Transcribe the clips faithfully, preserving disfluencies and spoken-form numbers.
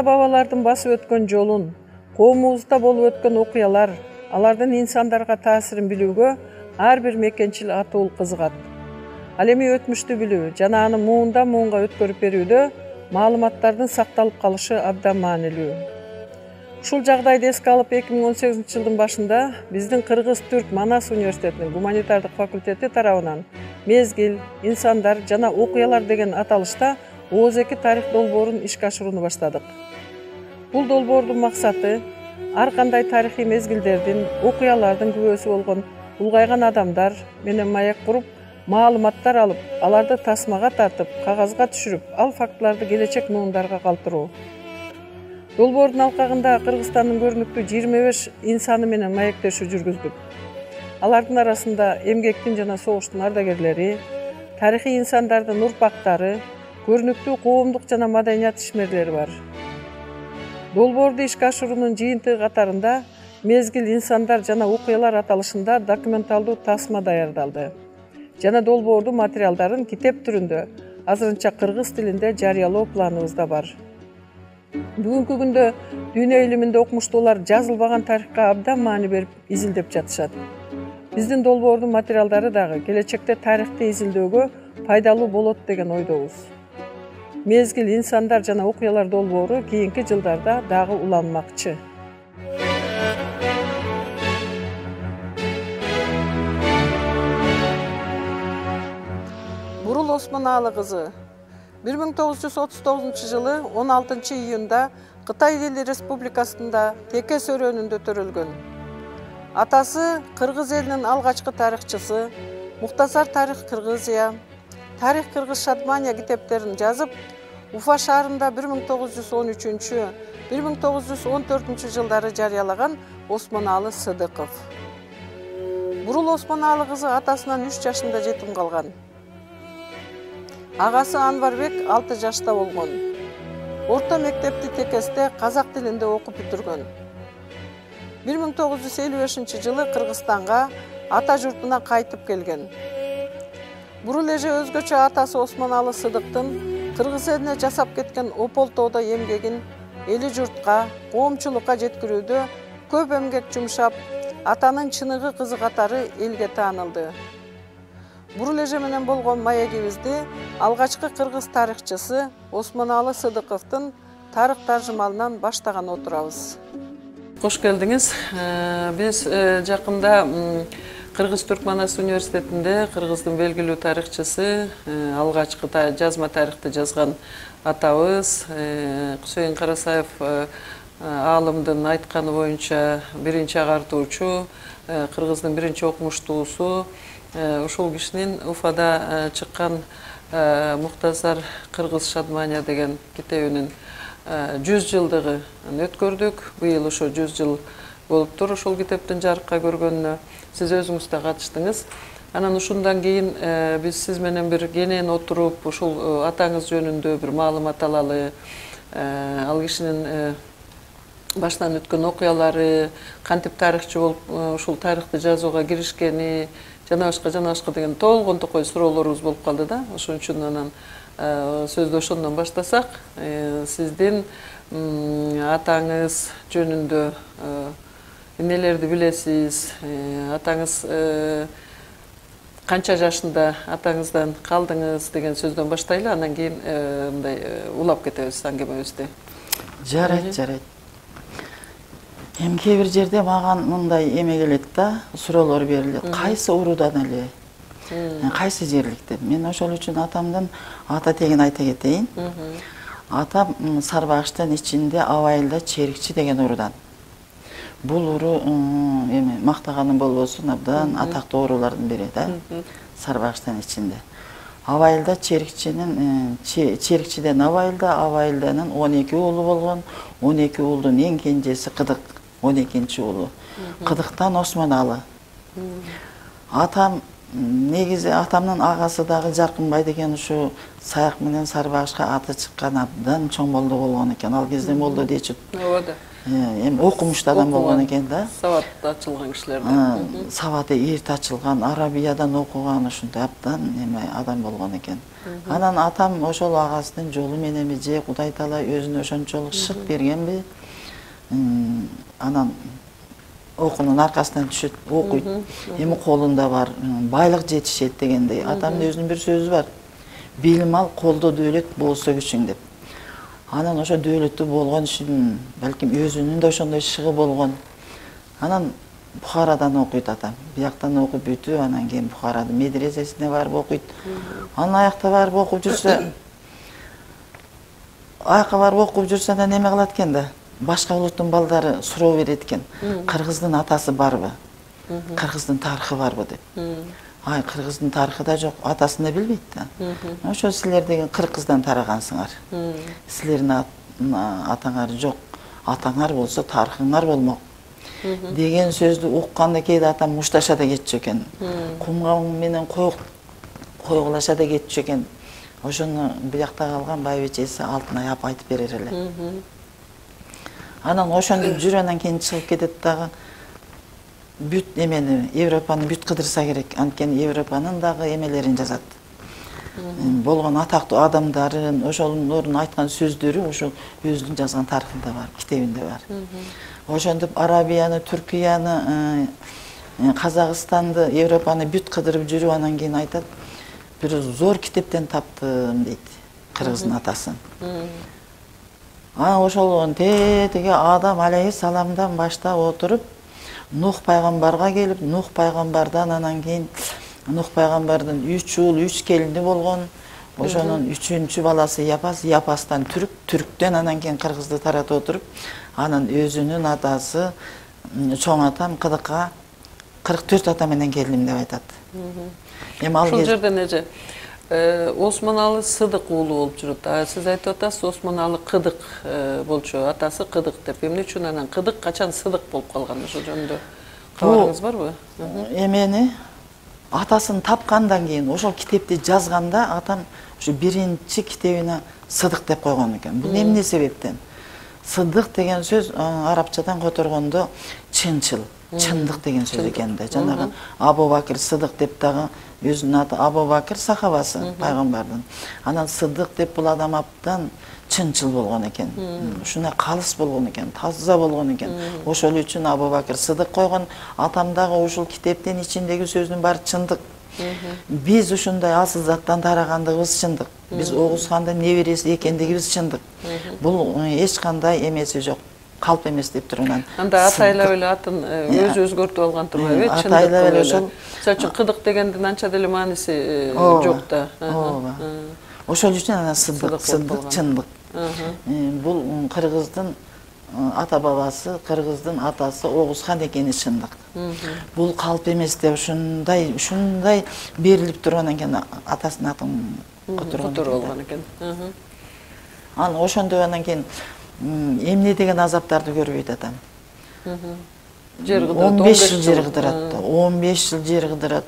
ата бабалардын басып өткөн жолун, коомубузда болуп өткөн окуялар, алардын инсандарга таасирин билүүгө ар бир мекенчил атуул кызыгат. Ал эми өтмүштү билүү жана аны муундан муунга өткөрүп берүүдө маалыматтардын сакталып калышы абдан маанилүү. Ушул жагдайды эске алып эки миң он сегизинчи жылдын башында биздин Кыргыз-Түрк Манас университетинин гуманитардык факультети тарабынан мезгил, инсандар жана окуялар деген аталышта Ооз эки тарых долбоорун ишке ашырууну баштадык. Бул долбоордун максаты ар кандай тарыхый мезгилдердин, окуялардын күбөсү болгон улгайган адамдар менен маек куруп, маалыматтар алып, аларды тасмага тартып, кагазга түшүрүп, ал фактыларды келечек муундарга калтыруу. Долбоордун алкагында Кыргызстандын көрүнүктүү жыйырма беш инсаны менен маектешүү жүргүздүк. Алардын арасында эмгектин жана согуштун ардагерлери, тарыхый инсандардын урпактары, көрүнүктүү коомдук жана маданият ишмерлери бар. Долбоорду ишке ашыруунун жыйынтыгы катарында мезгил, инсандар жана окуялар аталышында документалдуу тасма даярдалды жана долбоордун материалдарын китеп түрүндө азырынча кыргыз тилинде жарыялоо планыбызда бар. Бүгүнкү күндө дүйнө илиминде окумуштуулар жазылбаган тарыхка абдан маани берип изилдеп жатышат. Биздин долбоордун материалдары дагы келечекте тарыхты изилдөөгө пайдалуу болот деген ойдобуз. Мезгил, инсандар жана окуялар долбоору кийинки жылдарда дагы уланмакчы. Бурул Осмоналы кызы бир миң тогуз жүз отуз тогузунчу жылы он алтынчы июнда Кытай Эл Республикасында Текес өрөөнүндө төрөлгөн. Атасы Кыргыз элинин алгачкы тарыхчысы, Мухтасар тарих Кыргызия, Тарих Кыргыз Шадмания китептерин жазып, Уфа шаарында бир миң тогуз жүз он үчүнчү — бир миң тогуз жүз он төртүнчү жылдары жарыялаган Осмоналы Сыдыков. Бурул Осмоналы кызы атасынан үч жашында жетим калган. Агасы Анварбек алты жашта болгон. Орто мектепти Текесте казак тилинде окуп бүтүргөн. бир миң тогуз жүз элүү бешинчи жылы Кыргызстанга ата журтуна кайтып келген. Бурул эже өзгөчө атасы Осмоналы Сыдыктын Кыргыз элине жасап кеткен Опол тоодо эмгегин эли журтка, коомчулукка жеткирүүдө көп эмгек жумшап, атанын чыныгы кызы катары элге таанылды. Бурул эже менен болгон маегибизди алгачкы кыргыз тарыхчысы Осмоналы Сыдыковдун тарых таржымалынан баштаган отурабыз. Кош келдиңиз. Биз жакында Кыргыз-Түрк Манас университетинде Кыргыздын белгилүү тарыхчысы, алгачкы жазма тарыхты жазган атабыз Кусейин Карасаев аалымдын айтканы боюнча биринчи агартуучу, Кыргыздын биринчи окумуштуусу, ушул кишинин Уфада чыккан Мухтасар Кыргыз Шадмания деген китебинин жүз жылдыгын өткөрдүк. Быйыл ошо жүз жыл болуптур ушул китептин жарыкка көргөнүнө. Сиз өзүңүз да катыштыңыз. Анан ушундан кийин биз сиз менен бир кенен отуруп, ушул атаңыз жөнүндө бир маалымат алалы, ал кишинин баштан өткөн окуялары, кантип тарыхчы болуп ушул тарыхты жазууга киришкени, жана башка жана башка деген толгон токой суроолорубуз болуп калды да. Ошон үчүн анан сөздү ошондон баштасак, сиздин атаңыз жөнүндө эмнелерди билесиз? Атаңыз канча жашында атаңыздан калдыңыз деген сөздөн баштайлы, анан кийин мындай улап кетебиз аңгемебизди. Жарайт, жарайт. Эми кээ бир жерде маған мындай эме келет да, суроолор берилет. Кайсы уруудан эле? Кайсы жерликтен? Мен ошол үчүн атамдын ата тегин айта кетейин. Атам Сарбагыштын ичинде Абайылда Черикчи деген уруудан. Бул уруу эми мактаганым болбосун, абдан атактуу уруулардын бири да. Сарбагыштын ичинде. Абайылда Черикчинин Черикчиден Абайылда, Абайылданын он эки уулу болгон. он эки уулдун эң кенжеси Кыдык, он экинчи уулу. Кыдыктан Осмоналы. Атам негизи атамдын агасы дагы Жаркынбай деген ушу Саяк менен Сарыбагышка аты чыккан абдан чоң молдо болгон экен. Ал кезде молдо дечип. Ооба да. Эми окумуштуу адам болгон экен да. Сабатты ачылган кишилерден. Сабаты эрт ачылган, арабиядан окуган ушундай абдан эме адам болгон экен. Анан атам ошол агасынын жолу мененби же Кудай таала өзүнө ошончолук шык бергенби? Анан окуунун аркасынан түшөт, окуйт. Эми колунда бар, байлык жетишет дегендей. Атамдын өзүнүн бир сөзү бар. Билим ал, колдо дөөлөт болсо күчүң деп. Анан ошо дөөлөттүү болгон үчүн балким өзүнүн да ошондой шыгы болгон. Анан Бухарадан окуйт атам. Бияктан окуп бүтүп, анан кийин Бухарадын медресесине барып окуйт. Анан аякта барып окуп жүрсө, аякка барып окуп жүрсө да неме кылат экен да. Башка улуттун балдары суроо берет экен. Кыргыздын атасы барбы? Кыргыздын тарыхы барбы деп. Ай, кыргыздын тарыхы да жок, атасын да билбейт да. Ошо силер деген кыргыздан тарагансыңар. Силердин атаңар жок. Атаңар болсо тарыхыңар болмок. Деген сөздү укканда кээде атам мушташа да кетчү экен. Кумга менен койгулаша да кетчү экен. Ошону биякта калган байбичеси Алтынай апа айтып берер эле. Анан ошондуп жүрүп анан кийин чыгып кетет дагы. Бүт эмени, Европаны бүт кыдырса керек. Анткени Европанын дагы эмелерин жазат. Болгон атактуу адамдарын, ошолордун айткан сөздөрү ошол өзүнүн жазган тарыхында бар, китебинде бар. Ошентип Арабияны, Түркияны, Казакстанды, Европаны бүт кыдырып жүрүп анан кийин айтат, бир зор китептен таптым дейт, кыргыздын атасын. Анан ошол тетиги Адам алейхиссаламдан баштап отуруп, Нух пайгамбарга келип, Нух пайгамбардан анан кийин Нух пайгамбардын үч ул, үч келини болгон. Ошонун үчүнчү баласы Япас, Япастан түрк, түрктөн анан кийин кыргызды таратып отуруп, анан өзүнүн атасы чоң атам Кыдыкка кырк төрт ата менен келдим деп айтат. Эми ал ушул жерден эже Осмоналы Сыдык уулу болуп жүрөт. Сиз айтып атасыз, Осмоналы Кыдык болчу, атасы Кыдык деп. Эмне үчүн анан Кыдык качан Сыдык болуп калган? Ошол жөнүндө кабарыңыз барбы? Эмени атасын тапкандан кийин ошол китепти жазганда атам ушу биринчи китебине Сыдык деп койгон экен. Бул эмне себептен? Сыдык деген сөз арабчадан которгондо чынчыл, чындык деген сөз экен да. Жанагы Абу Бакир Сыдык деп дагы өзүнүн аты Абу Бакир сахабасы пайгамбардын. Анан Сыдык деп бул адам абдан чынчыл болгон экен. Ушуна калыс болгон экен, таза болгон экен. Ошол үчүн Абу Бакир Сыдык койгон. Атам дагы ушул китептин ичиндеги сөздүн баары чындык. Биз ушундай асыл заттан тарагандыгыбыз чындык. Биз Огуз хандын небереси экендигибиз чындык. Бул эч кандай эмеси жок. Калп эмес деп турган. Анда атайлап эле атын өзү өзгөртүп алган турбайбы? Атайлап эле ошол. Мисалы үчүн Кыдык дегендин анча деле мааниси жок да. Ооба. Ошол үчүн анан Сыдык, Сыдык чындык. Бул кыргыздын ата бабасы, кыргыздын атасы Огуз хан экени чындык. Бул калп эмес деп ушундай, ушундай берилип тургандан кийин атасынын атын которгон болгон экен. Анан ошондой анан кийин эмне деген азаптарды көрбөйт атам. Жер кыдырат, он беш жыл жер кыдырат. он беш жыл жер кыдырат.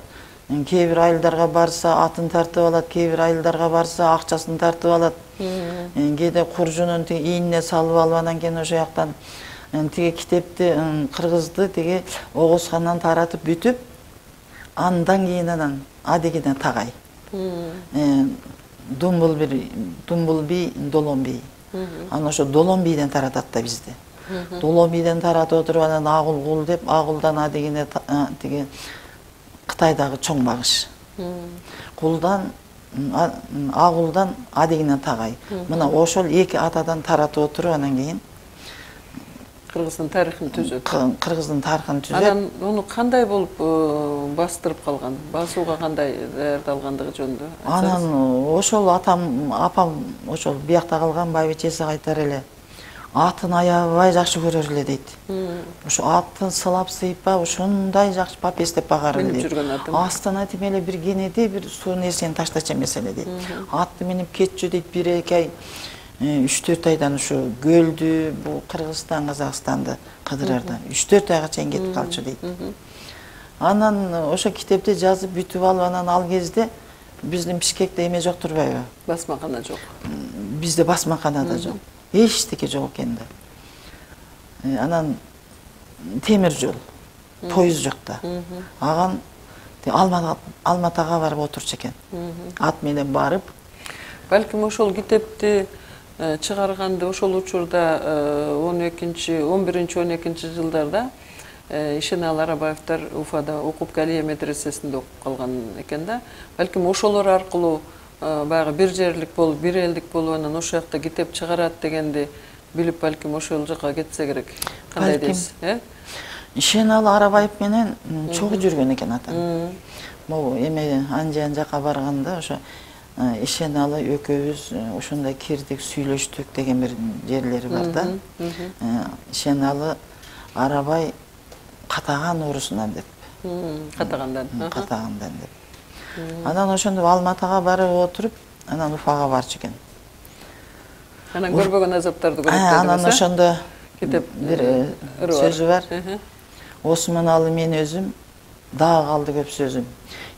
Кээ бир айылдарга барса атын тартып алат, кээ бир айылдарга барса акчасын тартып алат. Кээде куржунун тиги ийине салып алып анан кийин ошо жактан тиги китепти кыргызды тиги Огуз хандан таратып бүтүп, андан кийин анан адегине тагай. Думбулби, Думбулби, Долонби. Анан ошо Долонбийден таратат да бизди. Долонбийден таратып отуруп анан Агулгул деп, Агулдан адегине тиги Кытайдагы чоң багыш. Кулдан, Агулдан адегине тагай. Мына ошол эки атадан таратып отуруп анан кийин Кыргыздын тарыхын түзөт. Кыргыздын тарыхын түзөт. Анан муну кандай болуп бастырып калган? Басууга кандай даярдалгандыгы жөнүндө? Анан ошол атам, апам ошол биякта калган байбичеси айтар эле. Атын аябай жакшы көрөр эле дейт. Ошо атын сылап сыйпап, ушундай жакшы папес деп багар эле дейт. Астына тим эле бир кенеде бир суу нерсени таштачу эмес эле дейт. Атты минип кетчү дейт бир эки ай, үч төрт айдан ушу көлдү, бул Кыргызстан, Казакстанды кыдырарда үч төрт айга чейин кетип калчу дейт. Анан ошо китепти жазып бүтүп алып, анан ал кезде биздин Бишкекте эме жок турбайбы? Басмакана жок. Бизде басмакана да жок. Эчтеке жок экен да. Анан темир жол, поезд жок да. Аган Алматага барып отурчу экен. Ат менен барып. Балким ошол китепти чыгарганды ошол учурда он экинчи, он биринчи, он экинчи жылдарда Ишеналы Арабаевтар Уфада окуп Галия медресесинде окуп калган экен да. Балким ошолор аркылуу баягы бир жерлик болуп, бир элдик болуп, анан ошол жакта китеп чыгарат дегенди билип, балким ошол жака кетсе керек. Кандай дейсиз, э? Ишеналы Арабаев менен чогуу жүргөн экен атам. Могу эме анжан жака барганда ошо Ишеналы экөөбүз ошондой кирдик, сүйлөштүк деген бир жерлери бар да. Ишеналы Арабай Катаган уурусунан деп. Катагандан. Катагандан деп. Анан ошондо Алматага барып отуруп, анан Уфага барчу экен. Анан көрбөгөн азаптарды көрөт деп. Анан ошондо китеп бир сөзү бар. Осмоналы мен өзүм, дагы калды көп сөзүм.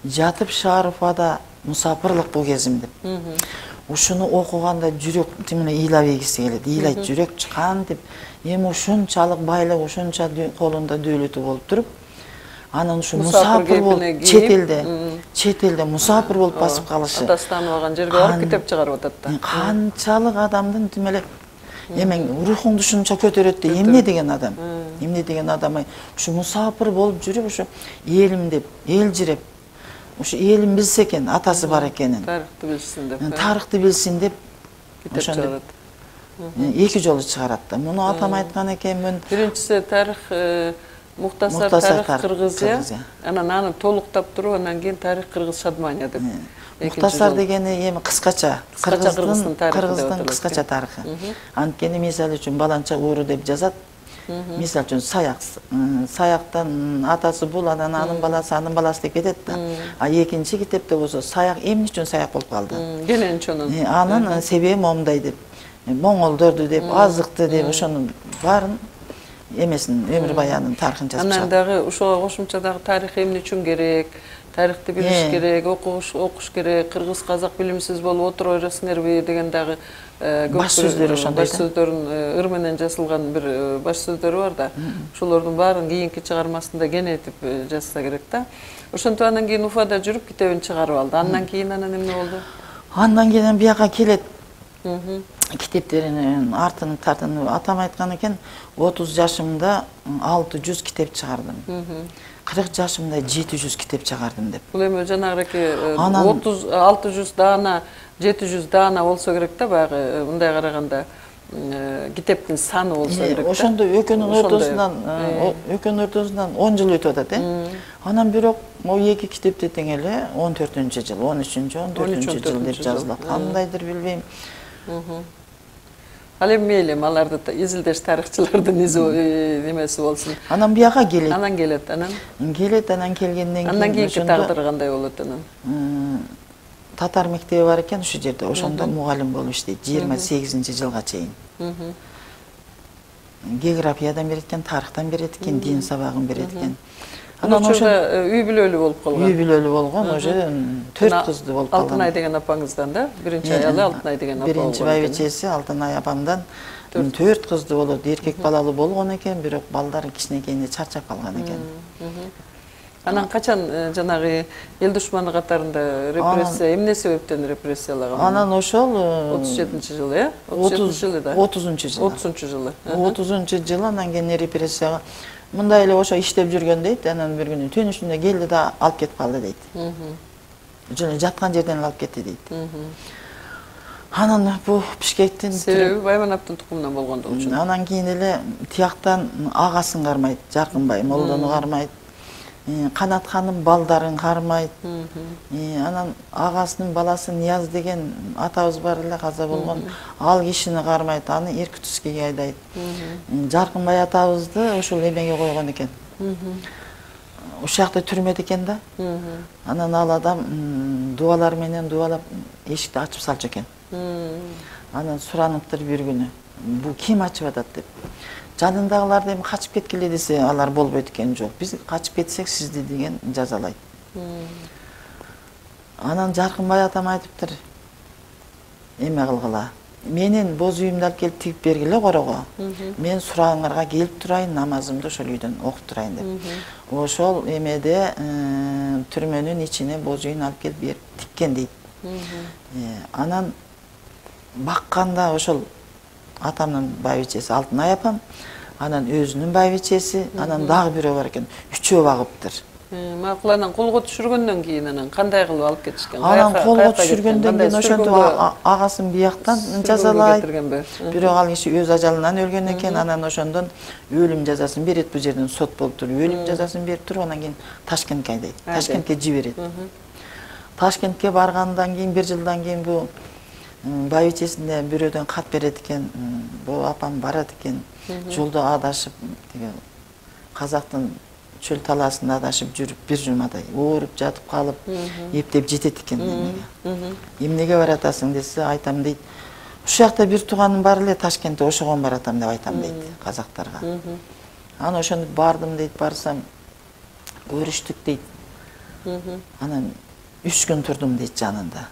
Жатып шаар Уфада мусапырлык бул кезим деп. Ушуну окуганда жүрөк тимине ыйлап ийгиси келет. Ыйлайт жүрөк кантип, эми ушунчалык байлык, ушунча колунда дөөлөтү болуп туруп, анан ушу мусапыр болуп чет элде, чет элде мусапыр болуп басып калышы. Атасы тааныбаган жерге барып китеп чыгарып атат да. Канчалык адамдын тимеле эмең рухуңду ушунча көтөрөт де, эмне деген адам? Эмне деген адам? Ушу мусапыр болуп жүрүп, ушу элим деп, элжиреп, ушу элим билсе экен, атасы бар экенин. Тарыхты билсин деп. Тарыхты билсин деп китеп чыгарат. Эки жолу чыгарат да. Муну атам айткан экен, мен биринчиси тарых Мухтасар тарых Кыргызия, анан аны толуктап туруп, анан кийин тарих Кыргыз Шадмания деп. Мухтасар дегени эми кыскача, Кыргыздын Кыргыздын кыскача тарыхы. Анткени мисалы үчүн баланча ууру деп жазат. Мисалы үчүн Саяк, Саяктан атасы бул, анан анын баласы, анын баласы деп кетет да. А экинчи китепте болсо Саяк эмне үчүн Саяк болуп калды? Гененчонун. Анын себеби момундай деп. Моңолдорду деп, азыкты деп, ошонун баарын эмесин, өмүр баянын тарыхын жазып чыгат. Анан дагы ушуга кошумча дагы тарих эмне үчүн керек? Тарихты билиш керек, окуш, окуш керек, кыргыз казак билимсиз болуп отура бересиңерби деген дагы баш сөздөр ошондой. Баш сөздөрүн ыр менен жазылган бир баш сөздөрү бар да. Ошолордун баарын кийинки чыгармасында кенетип жазса керек да. Ошентип анан кийин Уфада жүрүп китебин чыгарып алды. Андан кийин анан эмне болду? Андан кийин бияка келет. Китептеринин артын тартынып, атам айткан экен, отуз жашымда алты жүз китеп чыгардым. кырк жашымда жети жүз китеп чыгардым деп. Бул эми жанагыки отуз алты жүз даана, жети жүз даана болсо керек да, баягы мындай караганда китептин саны болсо керек да. Ошондо экөөнүн ортосунан, экөөнүн ортосунан он жыл өтүп атат, э? Анан бирок могу эки китепте тең эле он төртүнчү жыл, он үчүнчү, он төртүнчү жыл деп жазылат. Кандайдыр билбейм. Ал эми мейли, аларды изилдеш тарыхчылардын немеси болсун. Анан бияка келет. Анан келет, анан? Келет, анан келгенден кийин андан кийинки тагдыры кандай болот анан? Татар мектеби бар экен ушул жерде, ошондо мугалим болуп иштейт, жыйырма сегизинчи жылга чейин. Географиядан берет экен, тарыхтан берет экен, дин сабагын берет экен. Анан ошондо үй бүлөлүү болуп калган. Үй бүлөлүү болгон, уже төрт кызды болуп калган. Алтынай деген апаңыздан да, биринчи аялы Алтынай деген апа болгон. Биринчи байбичеси Алтынай апамдан төрт кызды болот, эркек балалуу болгон экен, бирок балдары кичинекейинде чарчап калган экен. Анан качан жанагы эл душманы катарында репрессия, эмне себептен репрессиялаган? Анан ошол отуз жетинчи жылы, э? отуз жетинчи жылы да. отузунчу жылы. отузунчу жылы. отузунчу жылы анан кийин репрессияга мындай эле ошо иштеп жүргөн дейт, анан бир күнү төнүшүндө келди да алып кетип калды дейт. Жана жаткан жерден алып кетти дейт. Анан бу Бишкектин себеби Байманаптын тукумунан болгондугу үчүн. Анан кийин эле тияктан агасын кармайт, Жаркынбай молдону кармайт. Канатканын балдарын кармайт. Анан агасынын баласы Нияз деген атабыз бар эле, каза болгон, ал кишини кармайт, аны Иркутскиге айдайт. Жаркынбай атабызды ошол эмеге койгон экен. Ошол жакта түрмөдө экен да. Анан ал адам дуалар менен дуалап эшикти ачып салчу экен. Анан сураныптыр бир күнү. бул ким ачып атат деп. Жанындагылар эми качып кеткиле десе, алар болбойт экен. Жок, биз качып кетсек сизди деген жазалайт. Анан Жаркынбай атам айтыптыр, эме кылгыла. Менин боз үйүмдү алып келип тигип бергиле корого. Мен сурагыңарга келип турайын, намазымды ошол үйдөн окуп турайын деп. Ошол эмеде түрмөнүн ичине боз үйүн алып келип берип тиккен дейт. Анан бакканда ошол атамдын байбичеси Алтынай апам, анан өзүнүн байбичеси, анан дагы бирөө бар экен. Үчөө багыптыр. Макул, анан колго түшүргөндөн кийин анан кандай кылып алып кетишкен? Анан колго түшүргөндөн кийин ошентип агасын бияктан жазалайт. Бирок ал киши өз ажалынан өлгөн экен, анан ошондон өлүм жазасын берет. Бул жерден сот болуп туруп, өлүм жазасын берип туруп, анан кийин Ташкентке айдайт. Ташкентке жиберет. Ташкентке баргандан кийин бир жылдан кийин бул байбичесине бирөөдөн кат берет экен. Бул апам барат экен. Жолдо адашып, тиги казактын чөл талаасында адашып жүрүп, бир жумадай ооруп жатып калып, эптеп жетет экен эмеге. Эмнеге баратасың десе, айтам дейт. Ушул жакта бир тууганым бар эле, Ташкентте, ошого баратам деп айтам дейт казактарга. Анан ошондо бардым дейт, барсам көрүштүк дейт. Анан үч күн турдум дейт жанында.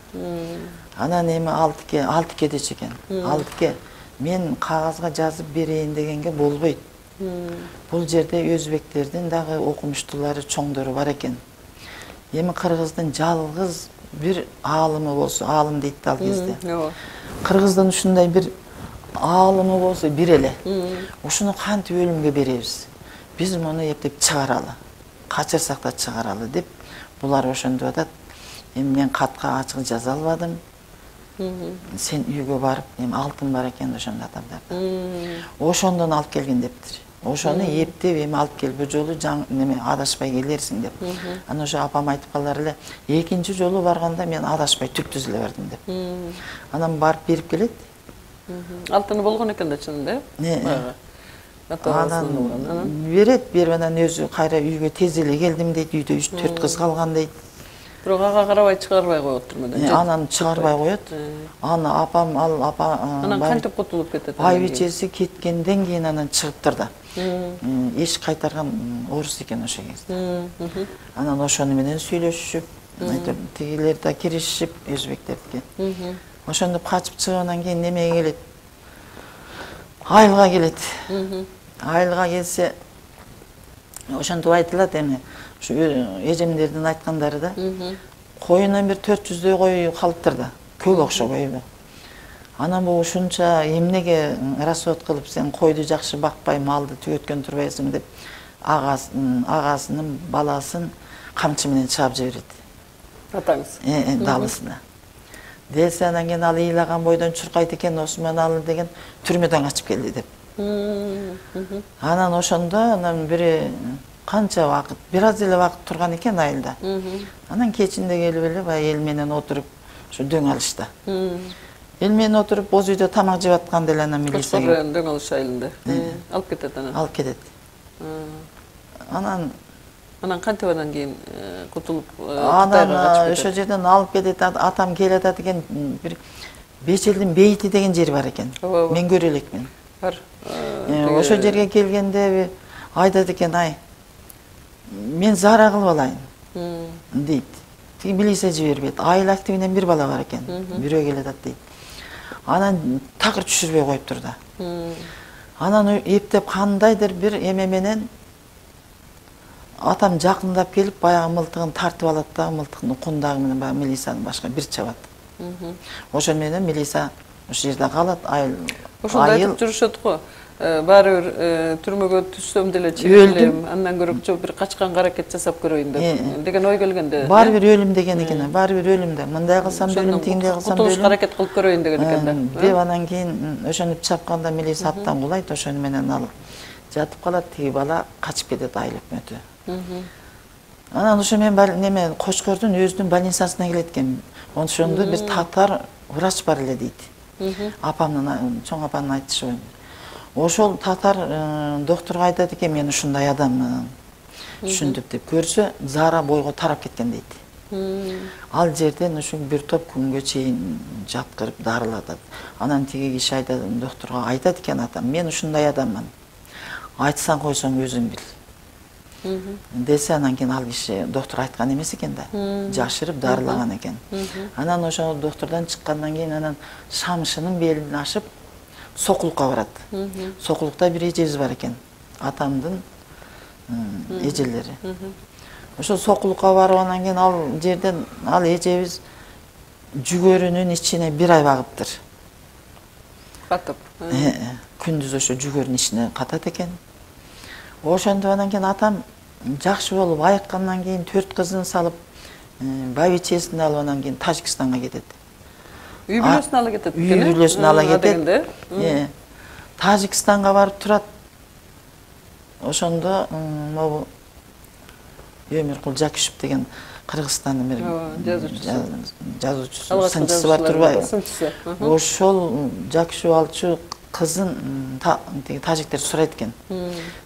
Анан эми алтыке, алтыке дечи экен. Алтыке, мен кагазга жазып берейин дегенге болбойт. Бул жерде өзбектердин дагы окумуштуулары, чоңдору бар экен. Эми кыргыздын жалгыз бир аалымы болсо, аалым дейт ал кезде. Кыргыздын ушундай бир аалымы болсо бир эле. Ушуну кантип өлүмгө беребиз? Биз муну эптеп чыгаралы. Качырсак да чыгаралы деп булар ошондоп атат. Эми мен катка ачык жаза албадым. Сен үйгө барып, эми алтын бар экен ошондо атамдар. Ошондон алып келген дептир. Ошону эптеп эми алып келип бу жолу неме адашпай келерсиң деп. Анан ошо апам айтып калар эле, экинчи жолу барганда мен адашпай түптүз эле бардым деп. Анан барып берип келет. Алтыны болгон экен да чынында, э? Анан берет, берип анан өзү кайра үйгө тез эле келдим дейт, үйдө үч төрт кыз калган дейт. Бирок ага карабай чыгарбай коет түрмөдөн. Анан чыгарбай коет. Аны апам, ал апа анан кантип кутулуп кетет? Байбичеси кеткенден кийин анан чыгыптыр да. Эш кайтарган орус экен ошо кезде. Анан ошону менен сүйлөшүшүп, айтып, тигилер да киришип, өзбектердики. Ошондоп качып чыггандан кийин немеге келет? Айылга келет. Айылга келсе, ошентип айтылат эми. Ушу эжемдердин айткандары да, коюнан бир төрт жүздөй кой калыптыр да, көп окшобойбу. Анан бул ушунча эмнеге расход кылып сен койду жакшы бакпай, малды түгөткөн турбайсың деп агасынын баласын камчы менен чаап жиберет. Атаңыз? Э, далысына. Десе анан кийин ал ыйлаган бойдон чуркайт экен, Осмоналы деген түрмөдөн качып келди деп. Анан ошондо анан бири канча вакыт, бир аз эле вакыт турган экен айылда. Анан кечинде келип эле баягы эл менен отуруп, ушу дөң алышта. Эл менен отуруп, боз үйдө тамак жеп атканда эле анан милиция келип дөң алыш айылында алып кетет анан. Алып кетет. Анан анан кантип анан кийин кутулуп Кытайга качып кетет? Ошол жерден алып кетет, атам келе атат экен, бир Бечелдин бейити деген жери бар экен. Мен көрө элекмин. Бар. Ошол жерге келгенде айтат экен, ай, мен зара кылып алайын, дейт. Тиги милиция жибербейт. Айыл активинен бир бала бар экен, бирөө келе атат дейт. Анан такыр түшүрбөй коюптур да. Анан эптеп кандайдыр бир эме менен атам жакындап келип, баягы мылтыгын тартып алат да, мылтыгын кундагы менен баягы милицияны башка бир чабат. Ошол менен милиция ошол жерде калат, айыл. Ошондо айтып жүрүшөт го. Баары бир түрмөгө түшсөм деле чегилем, андан көрө жок бир качканга аракет жасап көрөйүн деп деген ой келгенде. Баары бир өлүм деген экен, баары бир өлүм да. Мындай кылсам да өлүм, тигиндей кылсам да өлүм. Кутулушка аракет кылып көрөйүн деген экен да. Деп анан кийин ошону чапканда милиция аттан кулайт, ошону менен ал жатып калат, тиги бала качып кетет айыл өкмөтү. Анан ошо мен неме Кочкордун өзүнүн больницасына келет экен. Ошондо бир татар врач бар эле дейт. Апамдын, чоң апамдын айтышы боюнча. Ошол татар докторго айтат экен, мен ушундай адаммын, түшүндүп деп көрсө, зара бойго тарап кеткен дейт. Ал жерден ушу бир топ күнгө чейин жаткырып дарылатат. Анан тиги киши айтат, доктурга айтат экен атам, мен ушундай адаммын. Айтсаң койсоң өзүң бил. Десе анан кийин ал киши доктур айткан эмес экен да. Жашырып дарылаган экен. Анан ошо доктордон чыккандан кийин анан Шамшынын белин ашып Сокулукка барат. Сокулукта бир эжебиз бар экен. Атамдын эжелери. Ошо Сокулукка барып анан кийин ал жерден ал эжебиз жүгөрүнүн ичине бир ай багыптыр. Катып. Күндүз ошо жүгөрүнүн ичине катат экен. Ошондо анан кийин атам жакшы болуп айыккандан кийин төрт кызын салып, бабичесин алып анан кийин Тажикстанга кетет. Үй бүлөсүн ала кетет экен. Үй бүлөсүн ала кетет. Тажикстанга барып турат. Ошондо могу Өмүркул Жакишев деген Кыргызстандын бир жазуучусу, сынчысы бар турбайбы? Ошол Жакишев алчу кызын тажиктер сурайт экен.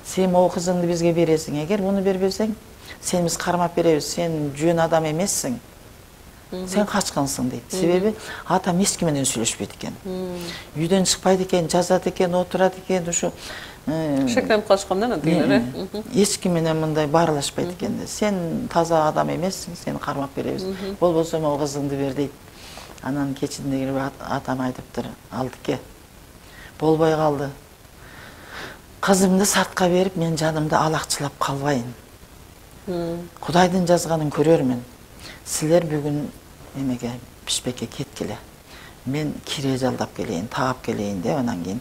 Сен могу кызыңды бизге бересиң, эгер муну бербесең, сени биз кармап беребиз, сен жөн адам эмессиң. Сен качкансың дейт. Себеби атам эч ким менен сүйлөшпөйт экен. Үйдөн чыкпайт экен, жазат экен, отурат экен, ушу шектенип калышкандан тигилер. Эч ким менен мындай баарлашпайт экен. Сен таза адам эмессиң, сени кармап беребиз. Болбосо могу кызыңды бер дейт. Анан кечинде кирип атам айтыптыр, Алдыке. Болбой калды. Кызымды сартка берип, мен жанымды алакчылап калбайын. Кудайдын жазганын көрөрмүн. Силер бүгүн эмеге Бишкекке кеткиле. Мен кире жалдап келейин, таап келейин деп анан кийин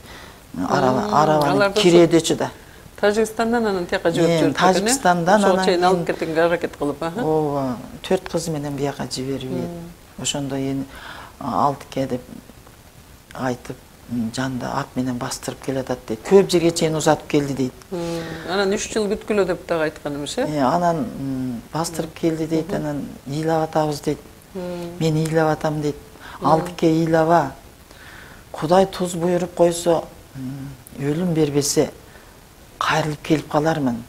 арабаны киредечи да. Тажикстандан анан тияка жиберип жүрдү. Тажикстандан анан чейин алып кеткенге аракет кылып, ооба, төрт кызы менен бияка жиберип, ошондо эми Алдыке деп айтып, жанда ат менен бастырып келатат дейт. Көп жерге чейин узатып келди дейт. Анан үч жыл бүткүлө деп дагы айткан эмес, э? Анан бастырып келди дейт, анан ыйлап атабыз дейт. Мен ыйлап атам дейт. Алдыке ыйлаба. Кудай туз буйруп койсо, өлүм бербесе кайрылып келип калармын.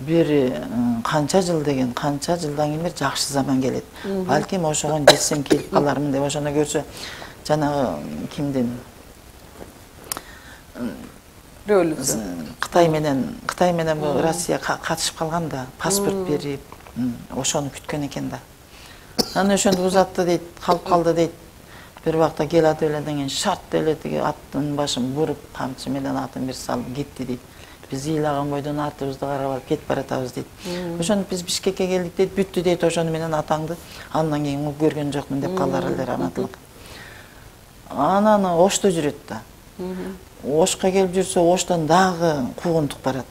Бир канча жыл деген, канча жылдан кийин бир жакшы заман келет. Балким ошогон жетсем келип калармын деп ошону көрсө, жанагы кимдин Кытай менен Кытай менен Россия катышып калган да, паспорт берип, ошону күткөн экен да. Анан ошондо узатты дейт, калып калды дейт. Бир убакта келатып эледен кийин шарт деле тиги аттын башын буруп, камчы менен атын бир салып кетти дейт. Биз ыйлаган бойдон артыбызды карап алып кетип баратабыз дейт. Ошону биз Бишкекке келдик дейт, бүттү дейт, ошону менен атаңды андан кийин угуп көргөн жокмун деп калдылар эле, раматылык. Анан Ошто жүрөт да. Ошко келип жүрсө, Оштон дагы куугунтук барат.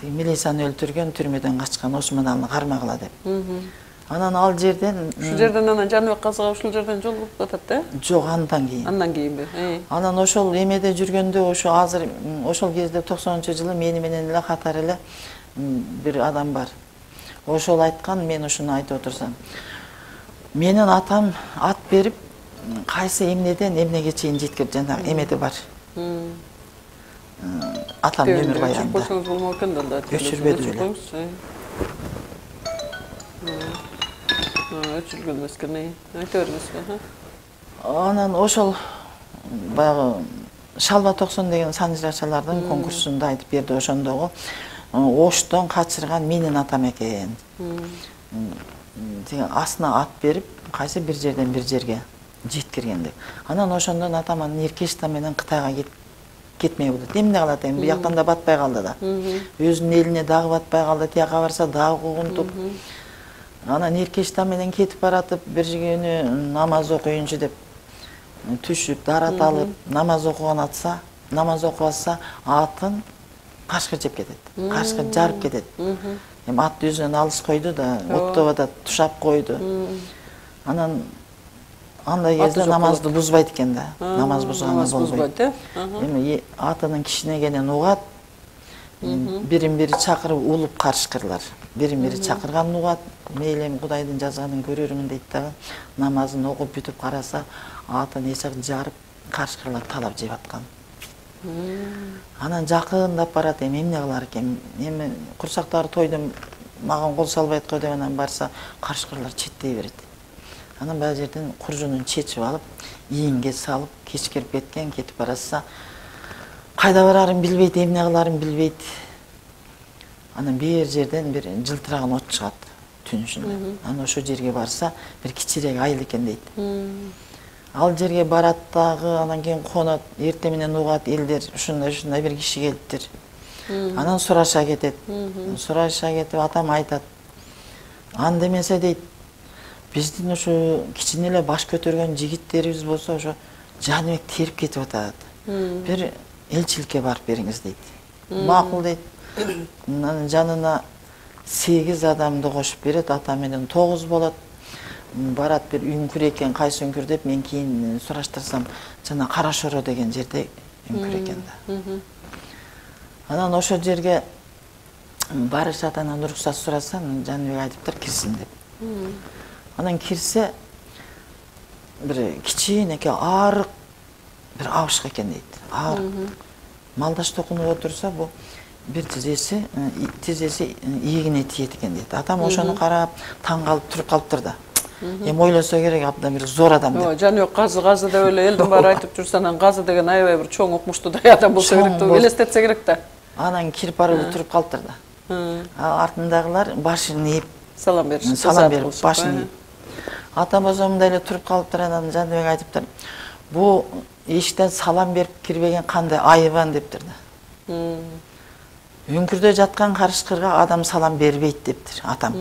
Милицияны өлтүргөн, түрмөдөн качкан Осмоналны кармагыла деп. Анан ал жерден ушул жерден анан Жаныбек Казыга ушул жерден жол болуп атат да? Жок, андан кийин. Андан кийинби? Анан ошол эмеде жүргөндө, ошо азыр ошол кезде токсонунчу жылы мени менен эле катар эле бир адам бар. Ошол айткан, мен ушуну айтып отурсам. Менин атам ат берип, кайсы эмнеден эмнеге чейин жеткирип, жанагы эмеде бар. Атам өмүр баянында. Өчүрбөсөңүз болмок экен да. Өчүрбөдү эле. Өчүргөн эмес экен, айта бериңиз. Анан ошол баягы Шалба токсон деген санжырачалардын конкурсунда айтып берди, ошондогу Оштон качырган менин атам экен. Деген асына ат берип, кайсы бир жерден бир жерге жеткирген деп. Анан ошондон атам анын эркештан менен Кытайга кетмей болот. Эмне калат эми, бияктан да батпай калды да. Өзүнүн элине дагы батпай калды, тияка барса дагы куугунтук. Анан эркештан менен кетип баратып, бир күнү намаз окуйунчу деп түшүп, дарат алып, намаз окуган атса, намаз окубаса, атын кашкыр жеп кетет. Кашкыр жарып кетет. Эми ат өзүнөн алыс койду да, оттобада тушап койду. Анан андай кезде намазды бузбайт экен да. Намаз бузганга болбойт. Эми атынын кичинегенен угат, бирин бири чакырып улуп карышкырлар. Бирин бири чакырганын угат, мейли эми Кудайдын жазганын көрөрмүн дейт дагы. Намазын окуп бүтүп караса, атын эсек жарып, карышкырлар талап жеп аткан. Анан жакындап барат, эми эмне кылар экен? Эми курсактагы тойдон маған кол салбайт го деп анан барса карышкырлар четтей берет. Анан баа жерден куржунун чечип алып, ийинге салып, кечкирип кеткен, кетип баратса, кайда барарын билбейт, эмне кыларын билбейт. Анан бир жерден бир жылтыраган от чыгат түн ичинде. Анан ошо жерге барса, бир кичирээк айыл экен дейт. Ал жерге барат дагы, анан кийин конот, эрте менен угат элдер, ушундай ушундай бир киши келиптир. Анан сураша кетет. Сураша кетип атам айтат. Анда эмесе дейт, биздин ошо кичине эле баш көтөргөн жигиттерибиз болсо ошо Жаныбек терип кетип атат. Бир элчиликке барып бериңиз дейт. Макул дейт. Анын жанына сегиз адамды кошуп берет, ата менен тогуз болот. Барат бир үңкүр экен, кайсы үңкүр деп мен кийин сураштырсам, жана Кара Шоро деген жерде үңкүр экен да. Анан ошол жерге барышат, анан уруксат сураса, Жаныбек айтыптыр кирсин деп. Анан кирсе, бир кичинекей арык бир абышка экен дейт. Арык. Малдаш токунуп отурса, бу бир тизеси, тизеси ийигине тиет экен дейт. Атам ошону карап, таң калып туруп калыптыр да. Эми ойлосо керек, абдан бир зор адам деп. Жаныбек казы казы деп эле элдин баары айтып жүрсө, анан казы деген аябай бир чоң укмуштуудай адам болсо керек деп элестетсе керек да. Анан кирип барып туруп калыптыр да. Артындагылар башын ийип салам беришип, салам берип, башын ийип. Атам болсо мындай эле туруп калыптыр, анан Жаныбек айтыптыр. Бу эшиктен салам берип кирбеген кандай айыбан дептир да. Үңкүрдө жаткан карышкырга адам салам бербейт дептир атам.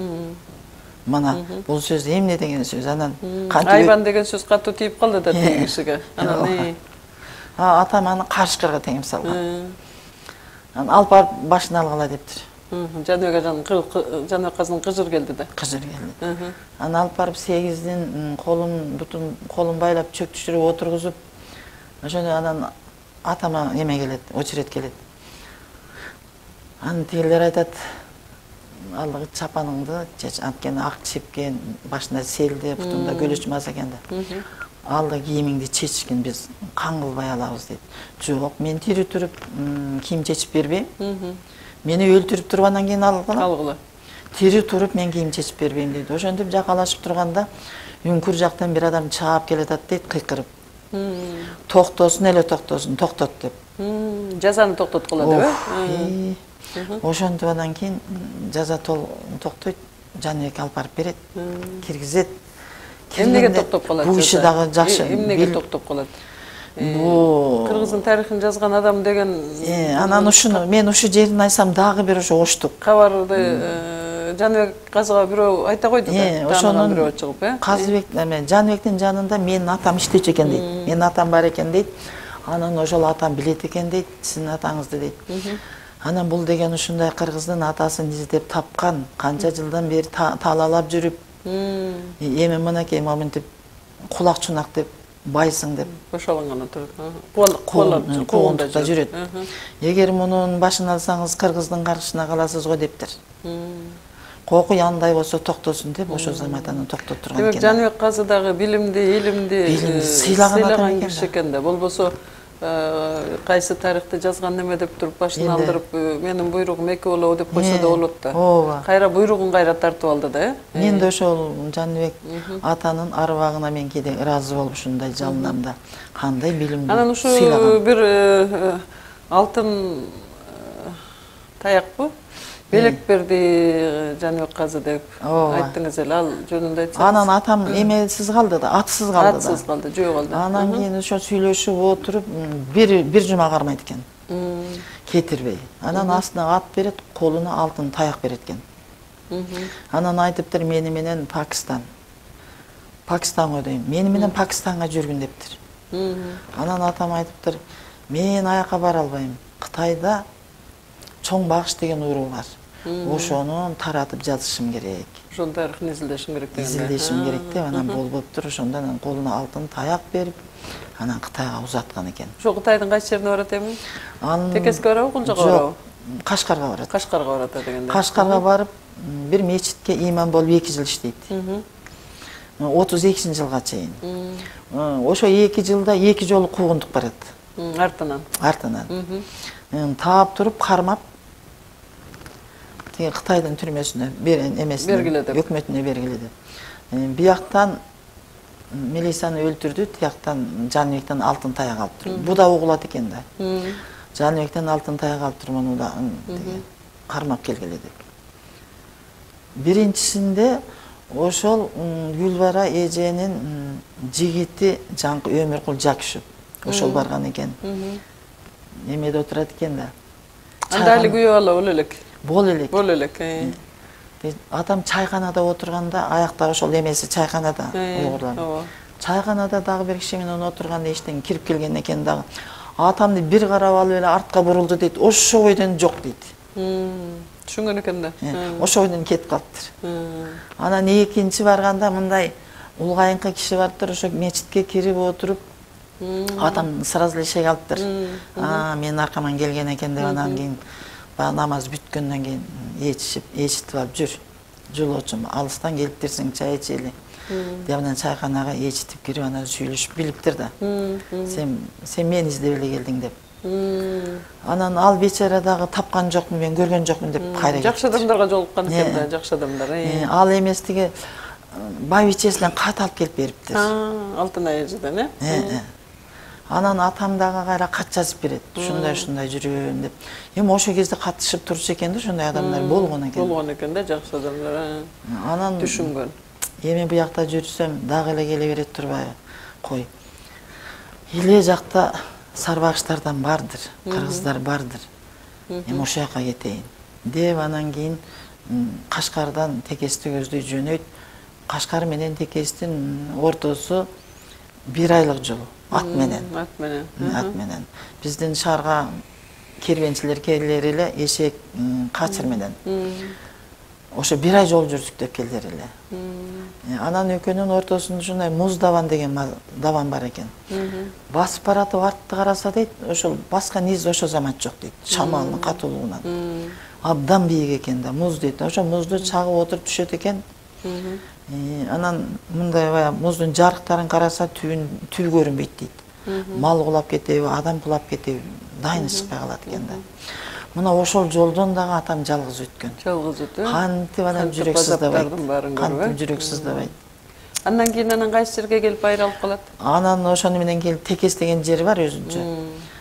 Мана бул сөз эмне деген сөз? Анан айбан деген сөз катуу тийип калды да тиги кишиге. Анан атам аны карышкырга теңип салган. Анан алып барып башын алгыла дептир. Жаныбек ажанын Жаныбек казынын кыжыр келди да. Кыжыр келди. Анан алып барып сегиздин колун, бутун колун байлап чөк түшүрүп отургузуп, ошондо анан атама эме келет, очерет келет. Анан тигилер айтат, алгы чапаныңды, анткени ак чепкен, башында селде, бутунда көлөч мас экен да. Алды кийимиңди чечкин, биз кан кылбай алабыз дейт. Жок, мен тири туруп кийим чечип бербейм. Мени өлтүрүп туруп андан кийин алгыла. Алгыла. Тири туруп мен кийим чечип бербейм дейт. Ошентип жакалашып турганда үңкүр жактан бир адам чаап келатат дейт, кыйкырып. Токтосун эле токтосун, токтот деп. Жазаны токтоткула деп. Ошентип андан кийин жаза токтойт, Жаныбек алып барып берет, киргизет. Эмнеге токтоп калат? Бул иши дагы жакшы. Эмнеге токтоп калат? Бу кыргыздын тарыхын жазган адам деген. Анан ушуну мен ушу жерин айтсам дагы бир ошо оштук. Кабарды Жаныбек казыга бирөө айта койду да. Ошонун бирөө чыгып, э? Казыбек, Жаныбектин жанында менин атам иштечү экен дейт. Менин атам бар экен дейт. Анан ошол атам билет экен дейт, сиздин атаңызды дейт. Анан бул деген ушундай кыргыздын атасын издеп тапкан, канча жылдан бери талаалап жүрүп, эми мынакей моментип кулак чунак деп байсың деп бошолонгон отуруп куугунтукта жүрөт. Эгер мунун башын алсаңыз кыргыздын каршысына каласыз го дептир. Коку яндай болсо токтосун деп ошол заматаны токтоп турган экен. Демек Жаныбек казы дагы билимди, илимди сыйлаган киши экен да. Болбосо кайсы тарыхты жазган неме деп туруп башын алдырып, менин буйругум эки болобу деп койсо да болот да. Ооба. Кайра буйругун кайра тартып алды да, э? Мен да ошол Жаныбек атанын арбагына мен кээде ыраазы болуп ушундай жалынам да. Кандай билимди. Анан ушу бир алтын таякпы? Белек берди Жаныбек казы деп айттыңыз эле, ал жөнүндө айтсаңыз. Анан атам эмесиз калды да, атсыз калды да. Атсыз калды, жөө калды. Анан кийин ошо сүйлөшүп отуруп, бир бир жума кармайт экен. Кетирбей. Анан астына ат берет, колуна алтын таяк берет экен. Анан айтыптыр, мени менен Пакистан. Пакистанга дейм. Мени менен Пакистанга жүргүн дептир. Анан атам айтыптыр, мен аяка бара албайм. Кытайда чоң багыш деген уруу бар. Ошону таратып жазышым керек. Ошонун тарыхын изилдешим керек деген. Изилдешим керек деп, анан болбоптур, ошондон колуна алтын таяк берип, анан Кытайга узаткан экен. Ошо Кытайдын кайсы жерине барат эми? Текеске барабы, Кулжага барабы? Кашкарга барат. Кашкарга барат дегенде. Кашкарга барып, бир мечитке имам болуп эки жыл иштейт. отуз экинчи жылга чейин. Ошо эки жылда эки жолу куугунтук барат. Артынан. Артынан. Таап туруп кармап, тиги Кытайдын түрмөсүнө берен эмесине Бергиле деп. өкмөтүнө бергиле деп. Бияктан милицияны өлтүрдү, тияктан Жаныбектен алтын таяк алып тур. Бу да угулат экен да. Жаныбектен алтын таяк алып тур, муну да кармап келгиле деп. Биринчисинде ошол Гүлбара эженин жигити Жаңкы Өмүркул Жакишев ошол барган экен. Эмеде отурат экен да. Анда али күйөө бала боло элек. Боло элек. Боло элек. Атам чайканада отурганда, аякта ошол эмеси чайканада угурланып. Чайканада дагы бир киши менен отурганда иштен кирип келген экен дагы. Атамды бир карап алып эле артка бурулду дейт. Ошо бойдон жок дейт. Түшүнгөн экен да. Ошо бойдон кетип калыптыр. Анан экинчи барганда мындай улгайыңкы киши бардыр, ошо мечитке кирип отуруп атам сразу эле шек алыптыр. А, менин аркаман келген экен деп, анан кийин баягы намаз бүткөндөн кийин ээрчишип, ээрчитип алып жүр. Жолоочум, алыстан келиптирсиң, чай ичели. Деп анан чайканага ээрчитип кирип анан сүйлөшүп билиптир да. Сен сен мени издеп эле келдиң деп. Анан ал бечара дагы тапкан жокмун, мен көргөн жокмун деп кайра кетти. Жакшы адамдарга жолуккан экен да, жакшы адамдар. Ал эмес тиги байбичесинен кат алып келип бериптир. Алтынай эжеден, э? Анан атам дагы кайра кат жазып берет. Ушундай ушундай жүрөм деп. Эми ошол кезде катышып турчу экен да, ошондой адамдар болгон экен. Болгон экен да, жакшы адамдар. Анан түшүнгөн. Эми буякта жүрсөм дагы эле келе берет турбайбы? Кой. Иле жакта сарбагыштардан бардыр, кыргыздар бардыр. Эми ошол жака кетейин деп анан кийин Кашкардан Текести көздөй жөнөйт. Кашкар менен Текестин ортосу бир айлык жол. Ат менен. Ат менен. Ат менен. Биздин шаарга кербенчилер келер эле эшек, качыр менен. Ошо бир ай жол жүрдүк деп келдер эле. Анан экөөнүн ортосунда ушундай муз даван деген даван бар экен. Басып баратып артты караса дейт, ошол баскан из ошо замат жок дейт. Шамалдын катуулугунан. Абдан бийик экен да, муз дейт. Ошо музду чагып отуруп түшөт экен. Анан мындай баягы муздун жарыктарын караса түбүн түбү көрүнбөйт дейт. Мал кулап кетеби, адам кулап кетеби, дайыны чыкпай калат экен да. Мына ошол жолдон дагы атам жалгыз өткөн. Жалгыз өтүп. Кантип анан жүрөк сыздабайт. Кантип жүрөк сыздабайт. Андан кийин анан кайсы жерге келип айрылып калат? Анан ошону менен келип Текес деген жери бар өзүнчө.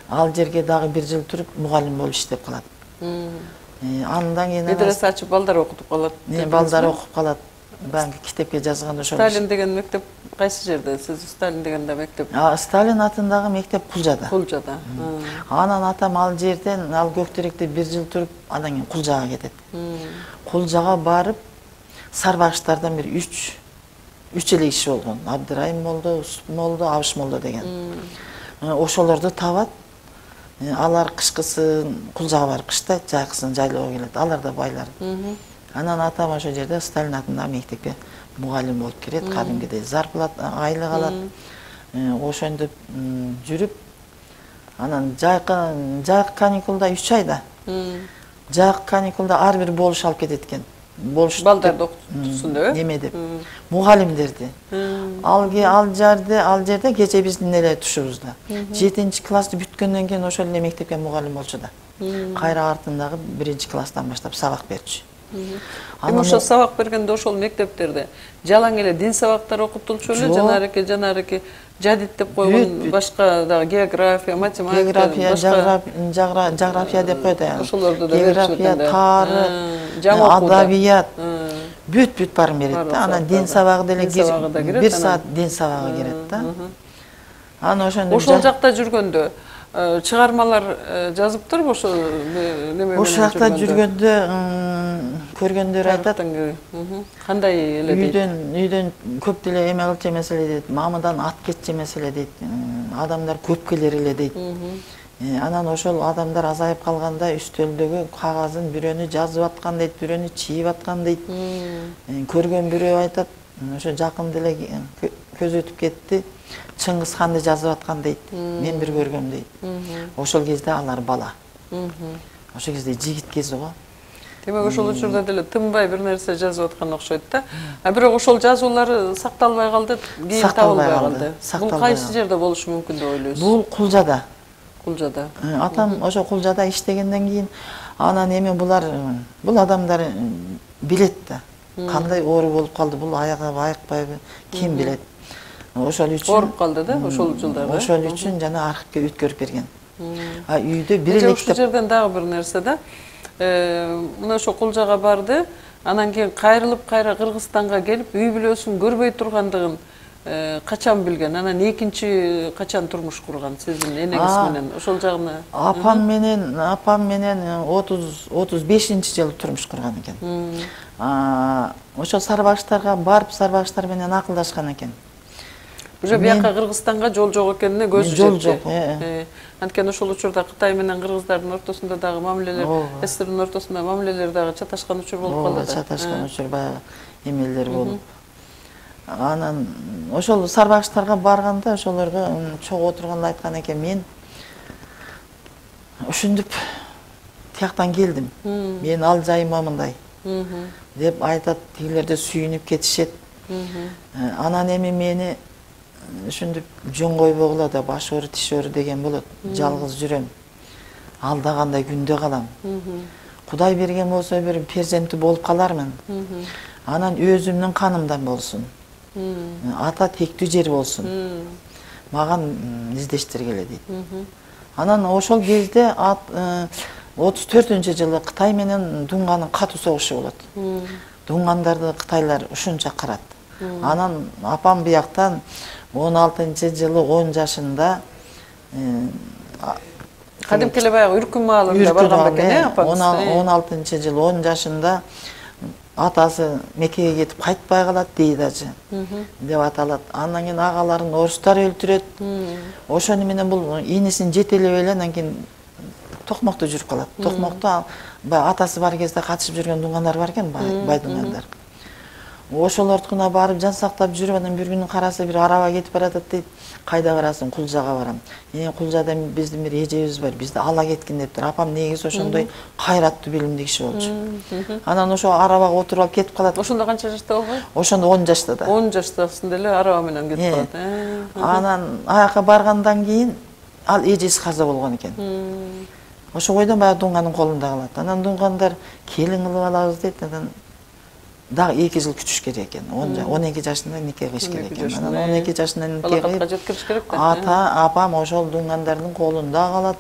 Ал жерге дагы бир жыл туруп мугалим болуп иштеп калат. Андан кийин медресе ачып балдар окутуп калат. Балдар окуп калат. Баягы китепке жазган ошол. Сталин деген мектеп кайсы жерде? Сиз Сталин дегенде мектеп? А, Сталин атындагы мектеп Кулжада. Кулжада. Анан атам ал жерден, ал Көктөрөктө бир жыл туруп, андан кийин Кулжага кетет. Кулжага барып, сарбагыштардан бир үч үч эле киши болгон. Абдырайым молдо, Усуп молдо, Абыш молдо деген. Ошолорду табат. Алар кышкысын Кулжага барып кыштайт, жайкысын жайлоого келет. Алар да байлар. Анан атам ошол жерде Сталин атындагы мектепке мугалим болуп кирет, кадимгидей зарплата, айлык алат. Ошентип жүрүп, анан жайкы жайкы каникулда үч айда. Жайкы каникулда ар бир болуш алып кетет экен. Болуш балдарды окутсун деп, неме деп. Мугалимдерди. Алги ал жерде, ал жерде кече биздин эле тушубузда. жетинчи классты бүткөндөн кийин ошол эле мектепке мугалим болчу да. Кайра артындагы биринчи класстан баштап сабак берчү. Эми ошол сабак бергенде ошол мектептерде жалаң эле дин сабактары окутулчу эле, жанарыки, жанарыки жадид деп койгон башка дагы география, математика, география, жаграфия деп коет. Ошолорду да география, тары, адабият, бүт-бүт барын берет да. Анан дин сабагы деле бир саат дин сабагы кирет да. Анан ошондо ошол жакта жүргөндө чыгармалар жазыптырбы ошо неме менен? Ошол жакта жүргөндө көргөндөр айтат. Кандай эле дейт? Үйдөн үйдөн көп деле эме кылчу эмес эле дейт. Мамыдан ат кетчү эмес эле дейт. Адамдар көп келер эле дейт. Анан ошол адамдар азайып калганда үстөлдөгү кагазын бирөөнү жазып аткан дейт, бирөөнү чийип аткан дейт. Көргөн бирөө айтат, ошо жакын деле көз өтүп кетти. Чыңгыз ханды жазып аткан дейт. Мен бир көргөм дейт. Ошол кезде алар бала. Ошол кезде жигит кези го. Демек ошол учурда деле тынбай бир нерсе жазып аткан окшойт да. А бирок ошол жазуулары сакталбай калды, кийин табылбай калды. Бул кайсы жерде болушу мүмкүн деп ойлойсуз? Бул Кулжада. Кулжада. Атам ошо Кулжада иштегенден кийин Анан эми булар бул адамдар билет да. Кандай оору болуп калды, бул аягыбы, айыкпайбы, ким билет. Ошол үчүн ооруп калды да ошол жылдарда. Ошол үчүн жана архивге өткөрүп берген. А үйдө бир эле ушул жерден дагы бир нерсе да. Мына ошо Кулжага барды, анан кийин кайрылып кайра Кыргызстанга келип, үй бүлөсүн көрбөй тургандыгын качан билген? Анан экинчи качан турмуш курган сиздин энеңиз менен? Ошол жагына. Апам менен, апам менен отуз отуз бешинчи жылы турмуш курган экен. Ошол Сарбагыштарга барып, Сарбагыштар менен акылдашкан экен. Уже бияка Кыргызстанга жол жок экенине көзү жетти. Жол жок. Анткени ошол учурда Кытай менен кыргыздардын ортосунда дагы мамилелер, СССРдин ортосунда мамилелер дагы чаташкан учур болуп калды да. Чаташкан учур баягы эмелер болуп. Анан ошол Сарбагыштарга барганда ошолорго чогуу отурганда айткан экен, мен ушинтип тияктан келдим. Мен ал жайыма мындай деп айтат, тигилерде сүйүнүп кетишет. Анан эми мени ушинтип жөн койбогула да, баш оору, тиш оору деген болот. Жалгыз жүрөм. Алдагандай күндө калам. Кудай берген болсо бир перзенти болуп калармын. Анан өзүмдүн канымдан болсун. Ата тектүү жер болсун. Маган издештиргиле дейт. Анан ошол кезде отуз төртүнчү жылы Кытай менен Дунганын катуу согушу болот. Дунгандарды кытайлар ушунча карат. Анан апам бияктан он алтынчы жылы он жашында кадимки эле баягы Үркүн маалында барган бекен, э, апаңыз? он алтынчы жылы он жашында атасы Меккеге кетип кайтпай калат, дейт ажы деп аталат. Андан кийин агаларын орустар өлтүрөт. Ошону менен бул инисин жетелеп эле анан кийин Токмокто жүрүп калат. Токмокто атасы бар кезде катышып жүргөн дунгандар бар экен, бай дунгандар. Ошолордукуна барып жан сактап жүрүп, анан бир күнү караса бир араба кетип баратат дейт. Кайда барасың? Кулжага барам. Эне Кулжада биздин бир эжебиз бар, бизди ала кеткин дептир. Апам негизи ошондой кайраттуу, билимдүү киши болчу. Анан ошо арабага отуруп алып кетип калат. Ошондо канча жашта болгон? Ошондо он жашта да. он жаштасында эле араба менен кетип калат. Анан аяка баргандан кийин ал эжеси каза болгон экен. Ошо бойдон баягы Дунганын колунда калат. Анан Дунгандар келин кылып алабыз дейт. Анан дагы эки жыл күтүш керек экен. он эки жашында нике кылыш керек экен. Анан он эки жашында нике кылып жеткириш керек да. Ата, апам ошол Дунгандардын колунда калат.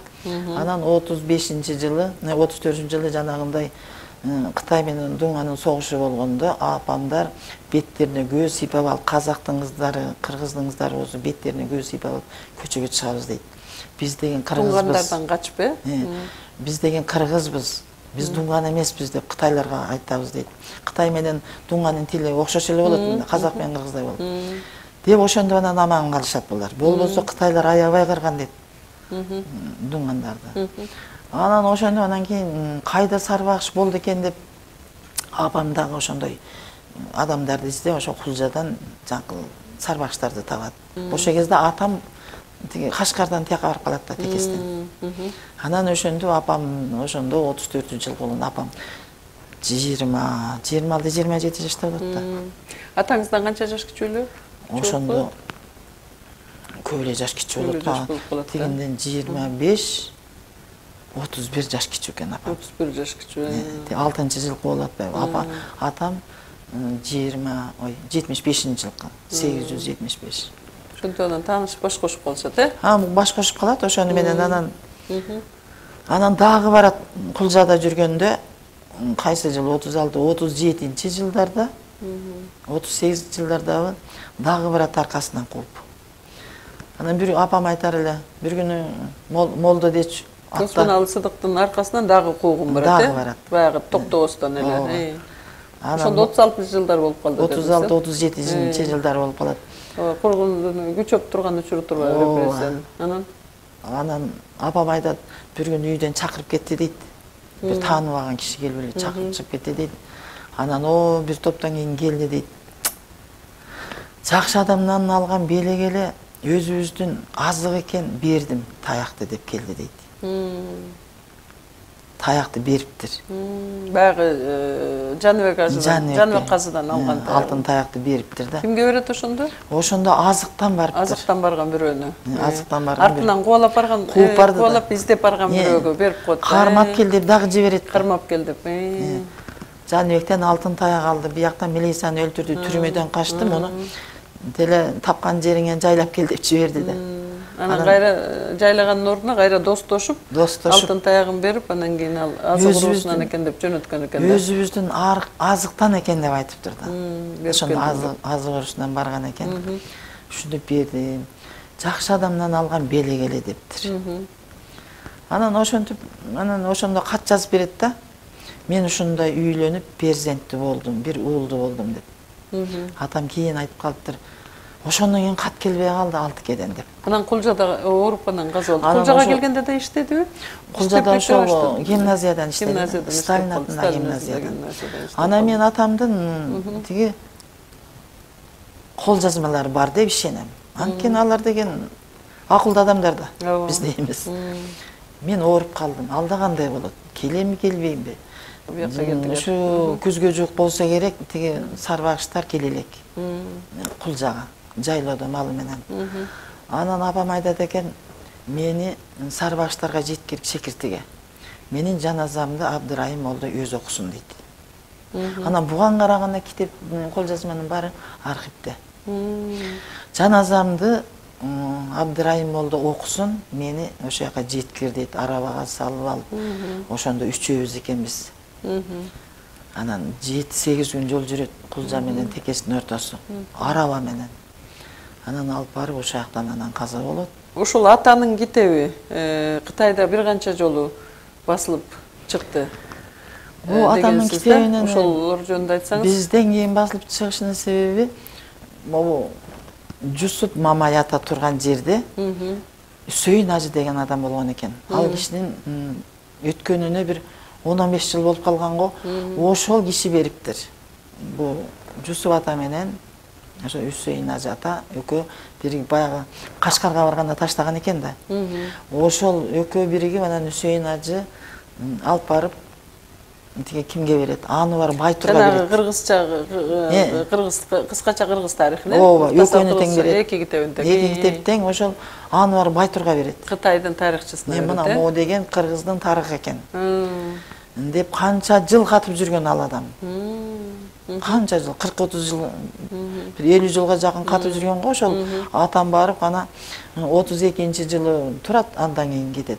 Анан отуз бешинчи жылы, отуз төртүнчү жылы жанагындай Кытай менен Дунганын согушу болгондо апамдар беттерине көз сыйпап алып, казактын кыздары, кыргыздын кыздары болсо беттерине көз сыйпап алып көчөгө чыгабыз дейт. Биз деген кыргызбыз. Дунгандардан качып, э? Биз деген кыргызбыз. Биз Дунган эмеспиз деп кытайларга айтабыз дейт. Кытай менен Дунганын тили окшош эле болот, казак менен кыргыздай болот. Деп ошондо анан аман калышат булар. Болбосо кытайлар аябай кырган дейт. Дунгандарды. Анан ошондо анан кийин кайда Сарбагыш болду экен деп апам дагы ошондой адамдарды издеп ошо Кулжадан жаңкыл Сарбагыштарды табат. Ошол кезде атам тиги Кашкардан тияка барып калат да, текестен. Анан ошондо апам ошондо отуз төртүнчү жыл болгон апам жыйырма, жыйырма алты, жыйырма жети жашта болот да. Атаңыздан канча жаш кичүүлүү? Ошондо көп эле жаш кичүү болот. Тигинден жыйырма беш, отуз бир жаш кичүү экен апам. отуз бир жаш кичүү. алтынчы жылкы болот байбы. Апа, атам жыйырма, ой, жетимиш бешинчи жылкы, сегиз жүз жетимиш беш. Ошондо анан таанышып баш кошуп калышат, э? А, баш кошуп калат, ошону менен анан анан дагы барат Кулжада жүргөндө, кайсы жыл, отуз алты, отуз жетинчи жылдарда, отуз сегизинчи жылдардабы дагы барат аркасынан кууп. Анан бир апам айтар эле, бир күнү молдо дечи Осмоналы Сыдыктын аркасынан дагы куугун барат, э? Дагы барат. Баягы Токтобостон эле. Ошондо отуз алтынчы жылдар болуп калды. отуз алты, отуз жетинчи жылдар болуп калат. Кургундун күчөп турган учуру турбайбы репрессиянын. Анан анан апам айтат, бир күнү үйдөн чакырып кетти дейт. Бир тааныбаган киши келип эле чакырып чыгып кетти дейт. Анан о бир топтон кийин келди дейт. Жакшы адамдан алган белек эле өзүбүздүн азык экен, бердим таякты деп келди дейт. таякты бериптир. Баягы Жаныбек ажыдан, Жаныбек казыдан алган алтын таякты бериптир да. Кимге берет ошондо? Ошондо азыктан барыптыр. Азыктан барган бирөөнү. Азыктан барган. Артынан кубалап барган, кубалап издеп барган бирөөгө берип коет. Кармап кел деп дагы жиберет. Кармап кел деп. Жаныбектен алтын таяк алды, бияктан милицияны өлтүрдү, түрмөдөн качты, муну деле тапкан жериңен жайлап кел деп жиберди да. Анан кайра жайлагандын ордуна кайра достошуп, алтын таягын берип, анан кийин ал азык уруусунан экен деп жөнөткөн экен да. Өзүбүздүн азыктан экен деп айтыптыр да. Ошондо азык уруусунан барган экен. Ушинтип бердим. Жакшы адамдан алган белек эле дептир. Анан ошентип, анан ошондо кат жазып берет да. Мен ушундай үйлөнүп, перзенттүү болдум, бир уулду болдум деп. Атам кийин айтып калыптыр. Ошондон кийин кат келбей калды алты кеден деп. Анан Кулжада ооруп анан каза болду. Кулжага келгенде да иштедиби? Кулжада ошол гимназиядан иштеди. Сталин атындагы гимназиядан. Анан мен атамдын тиги кол жазмалары бар деп ишенем. Анткени алар деген акылдуу адамдар да, биз дейбиз. Мен ооруп калдым. Алда кандай болот? Келеми, келбеймби? Ушу күзгө жук болсо керек, тиги сарбагыштар келе элек. Кулжага, жайлоодо малы менен. Анан апам айтат экен, мени сарбагыштарга жеткирип шекиртиге. Менин жаназамды Абдырайым молдо өзү окусун дейт. Анан буга караганда китеп, кол жазманын баары архивде. Жаназамды Абдырайым молдо окусун, мени ошол жака жеткир дейт, арабага салып алып. Ошондо үчөөбүз экенбиз. Анан жети сегиз күн жол жүрөт Кулжа менен Текестин ортосу, араба менен. Анан алып барып ошол жактан анан каза болот. Ушул атанын китеби Кытайда бир канча жолу басылып чыкты. Бул атанын китебинен ошолор жөнүндө айтсаңыз. Бизден кийин басылып чыгышынын себеби могу Жусуп Мамай ата турган жерде Үсөйүн ажы деген адам болгон экен. Ал кишинин өткөнүнө бир он он беш жыл болуп калган го. Ошол киши бериптир. Бул Жусуп ата менен ошо Үсөйүн ажы ата экөө биригип баягы Кашкарга барганда таштаган экен да. Ошол экөө биригип анан Үсөйүн ажы алып барып тиге кимге берет? Анвар Байтурга берет. Жанагы кыргызча, кыргыз кыскача кыргыз тарыхын, ооба, экөөнү тең берет. Эки китебин тең. Эки китеп тең ошол Анвар Байтурга берет. Кытайдын тарыхчысына берет. Мына могу деген кыргыздын тарыхы экен. Деп канча жыл катып жүргөн ал адам. Канча жыл, кырк отуз жыл, бир элүү жылга жакын катып жүргөн го ошол. Атам барып ана отуз экинчи жылы турат, андан кийин кетет.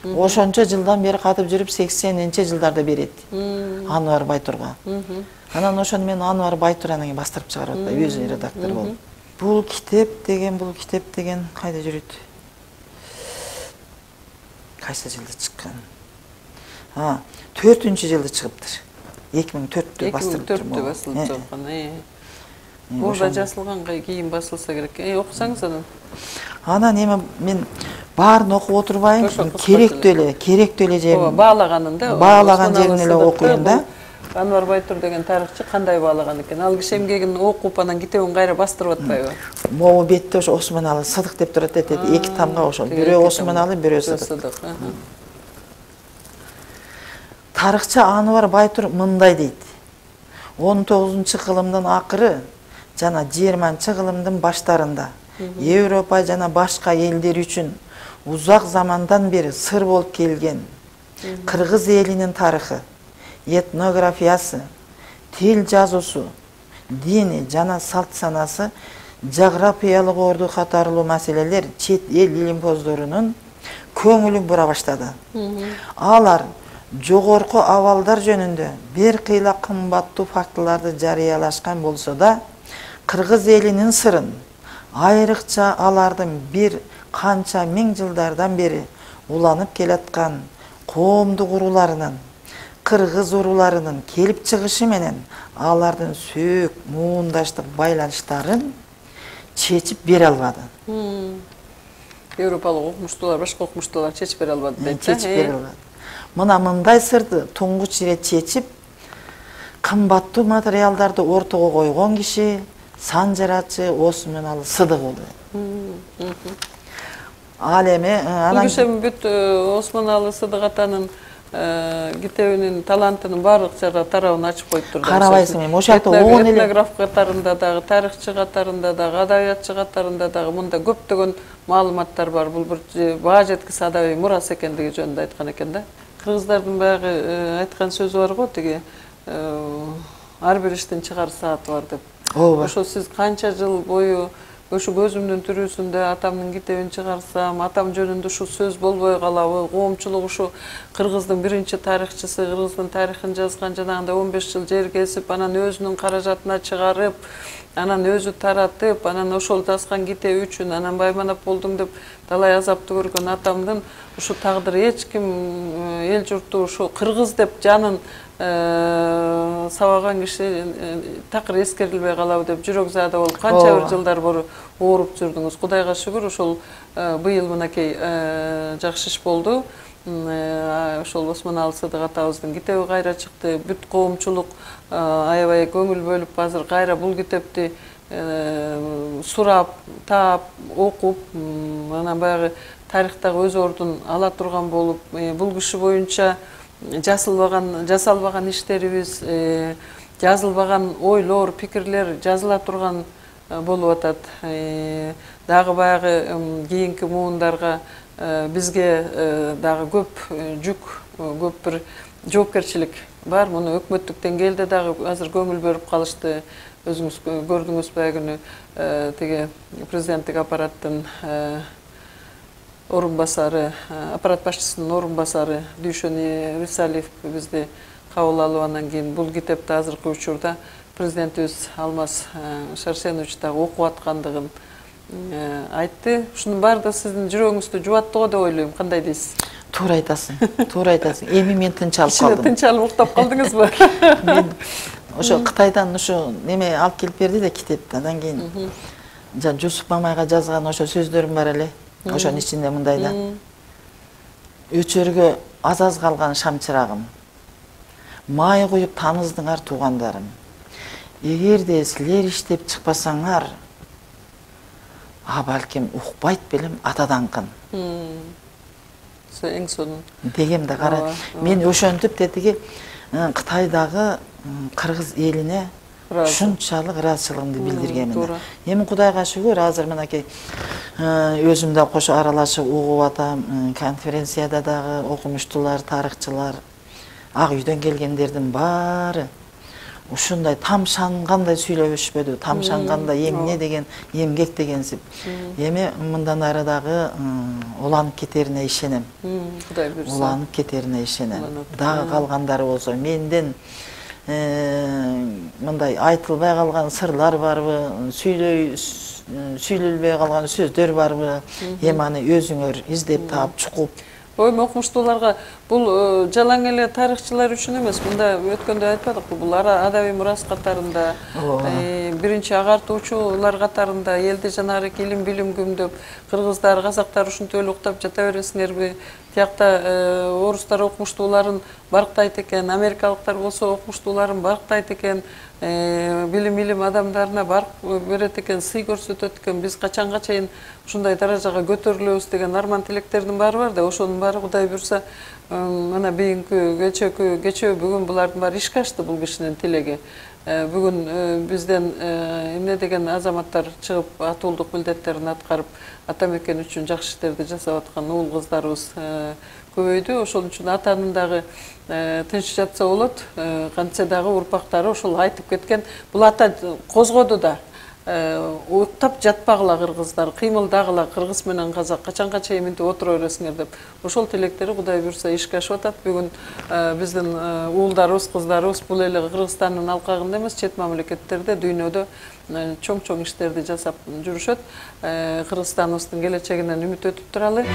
Ошончо жылдан бери катып жүрүп сексенинчи жылдарда берет. Анвар Байтурга. Анан ошону мен Анвар Байтур анан бастырып чыгарып атпайбы, өзү редактор болуп. Бул китеп деген, бул китеп деген кайда жүрөт? Кайсы жылда чыккан? А, төртүнчү жылда чыгыптыр. эки миң төрттө бастырыптыр. эки миң төрттө басылып чыккан. Бул да жазылганга кийин басылса керек. Окусаңыз анан. Анан эми мен баарын окуп отурбайм, керектүү эле, керектүү эле жерин. Ооба, баалаганын да. Баалаган жерин эле окуйм да. Анвар Байтур деген тарыхчы кандай баалаган экен? Ал киши эмгегин окуп анан китебин кайра бастырып атпайбы? Могу бетте ошо Осмоналы Сыдык деп турат эт, эки тамга ошол. Бирөө Осмоналы, бирөө Сыдык. Тарыхчы Анвар Байтур мындай дейт. он тогузунчу кылымдын акыры жана жыйырманчы кылымдын баштарында Европа жана башка элдер үчүн узак замандан бери сыр болуп келген кыргыз элинин тарыхы, этнографиясы, тил жазуусу, дини жана салт санасы, жографиялык орду катарлуу маселелер чет эл илимпоздорунун көңүлүн бура баштады. Алар жогорку абалдар жөнүндө бир кыйла кымбаттуу фактыларды жарыялашкан болсо да, кыргыз элинин сырын, айрыкча алардын бир канча миң жылдардан бери уланып келаткан коомдук урууларынын, кыргыз урууларынын келип чыгышы менен алардын сөөк муундаштык байланыштарын чечип бере албады. Европалык окумуштуулар, башка окумуштуулар чечип бере албады дейт. Чечип бере албады. Мына мындай сырды туңгуч ирет чечип, кымбаттуу материалдарды ортого койгон киши санжарачы Осмоналы Сыдык болду. Ал эми анан бул киши бүт Осмоналы Сыдык атанын китебинин талантынын баардык жара тарабын ачып коюп турду. Карабайсың эми ошол жакта он эле этнограф катарында дагы, тарыхчы катарында дагы, адабиятчы катарында дагы мында көптөгөн маалыматтар бар. Бул бир баа жеткис адабий мурас экендиги жөнүндө айткан экен да. Кыргыздардын баягы айткан сөзү бар го, тиги ар бир иштин чыгар сааты бар деп. Ооба. Ошо сиз канча жыл бою ошо көзүмдүн тирүүсүндө атамдын китебин чыгарсам, атам жөнүндө ушу сөз болбой калабы, коомчулук ушу кыргыздын биринчи тарыхчысы, кыргыздын тарыхын жазган, жанагындай он беш жыл жер кесип, анан өзүнүн каражатына чыгарып, анан өзү таратып, анан ошол жазган китеби үчүн анан байманап болдуң деп талай азапты көргөн атамдын ушу тагдыры эч ким эл журтту ушу кыргыз деп жанын сабаган киши такыр эскерилбей калабы деп жүрөк-заада болуп канча бир жылдар бору ооруп жүрдүңүз. Кудайга шүгүр ошол быйыл мынакей жакшы иш болду. Ошол Осмоналы Сыдык атабыздын китеби кайра чыкты. Бүт коомчулук аябай көңүл бөлүп азыр кайра бул китепти сурап, таап, окуп, анан баягы тарыхтагы өз ордун ала турган болуп, бул киши боюнча жасалбаган жасалбаган иштерибиз, жазылбаган ойлор, пикирлер жазыла турган болуп атат. Дагы баягы кийинки муундарга бизге дагы көп жүк, көп бир жоопкерчилик бар. Муну өкмөттүк деңгээлде дагы азыр көңүл бөлүп калышты. Өзүңүз көрдүңүз баягы тиги президенттик аппараттын орун басары, аппарат башчысынын орун басары Дүйшөн Рисалиев бизди кабыл алып, андан кийин бул китепти азыркы учурда президентибиз Алмаз Шарсенович дагы окуп аткандыгын айтты. Ушунун баардыгы сиздин жүрөгүңүздү жубаттыго деп ойлойм. Кандай дейсиз? Туура айтасың, туура айтасың. Эми мен тынчалып калдым. Тынчалып уктап калдыңызбы? Мен ошо Кытайдан ошо неме алып келип берди да китепти. Андан кийин жан Жусуп Мамайга жазган ошо сөздөрүм бар эле. Ошонун ичинде мындай да. Өчөргө аз-аз калган шамчырагым. Май куюп таныздыңар туугандарым. Эгерде силер иштеп чыкпасаңар, а балким укпайт белем атадаңкын. Эң сонун дегем да кара. Мен ошентип тетиги Кытайдагы кыргыз элине ушунчалык ыраазычылыгымды билдиргенмин. Эми Кудайга шүгүр, азыр мынакей өзүм да кошо аралашып угуп атам. Конференцияда дагы окумуштуулар, тарыхчылар, Ак үйдөн келгендердин баары ушундай тамшангандай сүйлөбүшпөдү, тамшангандай эмне деген, эмгек дегенсип. Эми мындан ары дагы уланып кетерине ишенем. Кудай буйрса. Уланып кетерине ишенем. Дагы калгандары болсо менден мындай айтылбай калган сырлар барбы, сүйлөй сүйлөлбөй калган сөздөр барбы, эми аны өзүңөр издеп таап чукуп. Ой, окумуштууларга бул жалаң эле тарыхчылар үчүн эмес, мында өткөндө айтпадыкпы, бул адабий мурас катарында, биринчи агартуучулар катарында элди жанагы илим билим күмдөп, кыргыздар, казактар ушинтип эле уктап жата бересиңерби? Тиякта орустар окумуштууларын барктайт экен, америкалыктар болсо окумуштууларын барктайт экен, билим илим адамдарына барк берет экен, сый көрсөтөт экен. Биз качанга чейин ушундай даражага көтөрүлөбүз деген арман тилектердин баары бар да, ошонун баары Кудай буйрса мына бийинки кечөөкү кечөө бүгүн булардын баары ишке ашты, бул кишинин тилеги. Бүгүн бизден эмне деген азаматтар чыгып атуулдук милдеттерин аткарып, ата мекен үчүн жакшы иштерди жасап аткан уул кыздарыбыз көбөйдү. Ошол үчүн атанын дагы тынч жатса болот, кантсе дагы урпактары ошол айтып кеткен. Бул ата козгоду да. Уктап жатпагыла кыргыздар, кыймылдагыла кыргыз менен казак, качанга чейин мынтип отура бересиңер деп. Ошол тилектери Кудай буйрса ишке ашып атат. Бүгүн биздин уулдарыбыз, кыздарыбыз бул эле Кыргызстандын алкагында эмес, чет мамлекеттерде, дүйнөдө чоң-чоң иштерди жасап жүрүшөт. Кыргызстаныбыздын келечегинен үмүт өтүп туралы.